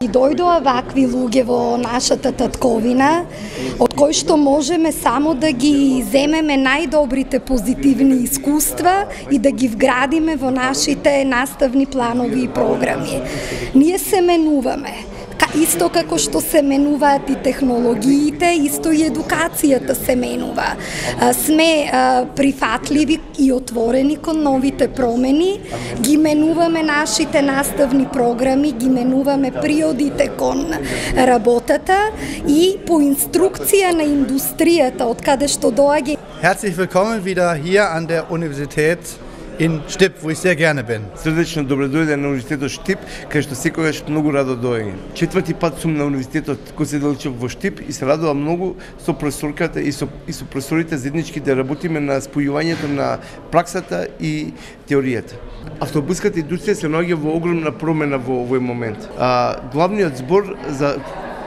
дојдоа вакви луѓе во нашата татковина, од кои што можеме само да ги земеме најдобрите позитивни искуства и да ги вградиме во нашите наставни планови и програми. Ние се менуваме. Исто како што се менуваат и технологиите, исто и едукацијата се менува. Сме прифатливи и отворени кон новите промени, ги менуваме нашите наставни програми, ги менуваме приодите кон работата и по инструкција на индустријата од каде што доаѓа. Herzlich willkommen wieder hier an der Universität in Štip, wo ich sehr gerne bin. Срдечно добредојде на Универзитетот Štip, кај што секогаш многу радо доаѓам. Четврти пат сум на Универзитетот кој се делчев во Štip и се радувам многу со професорката и со професорите заеднички да работиме на спојувањето на праксата и теоријата. Автобуската индустрија се наоѓа во огромна промена во овој момент. Главниот збор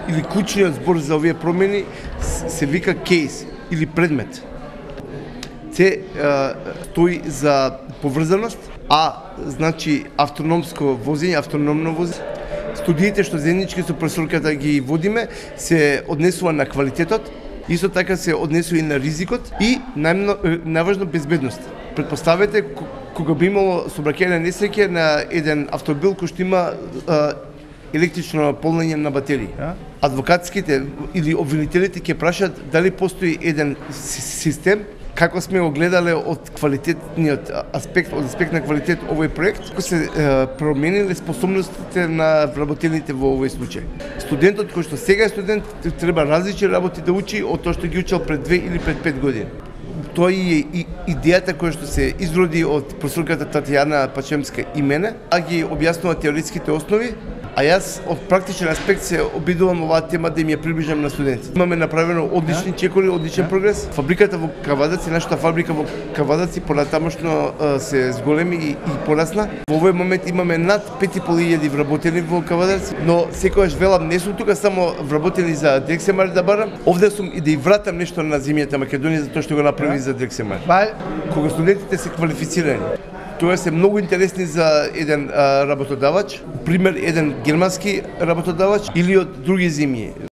или клучниот збор за овие промени се вика кейс или предмет. Се стои за поврзаност, значи автономско возење, автономно возење. Студиите што заеднички со професорката ги водиме се однесува на квалитетот, исто така се однесува и на ризикот и најважно безбедност. Предпоставете кога би имало сообраќајна несреќа на еден автомобил кој што има електрично полнење на батерии. Адвокатските или обвинителите ќе прашаат дали постои еден систем како сме го гледале од квалитетниот аспект, од аспект на квалитет овој проект, како се промениле способностите на вработените во овој случај. Студентот кој што сега е студент треба различни работи да учи од тоа што ги учел пред 2 или пред 5 години. Тоа е и идејата која што се изроди од професорката Татјана Пачемска и мене, ги објаснува теоретските основи, а јас од практичен аспект се обидувам оваа тема да им ја приближам на студентите. Имаме направено одлични чекори, одличен прогрес. Фабриката во Кавадаци, нашата фабрика во Кавадаци понатамошно се зголеми и порасна. Во овој момент имаме над 5.500 вработени во Кавадаци, но секогаш велам не сум тука само вработени за Дрексемар да барам, овде сум и да и вратам нешто на земјата Македонија за тоа што го направи за Дрексемар. Кога студентите се квалифицирани, тоа се многу интересни за еден работодавач, пример еден германски работодавач или од други земји.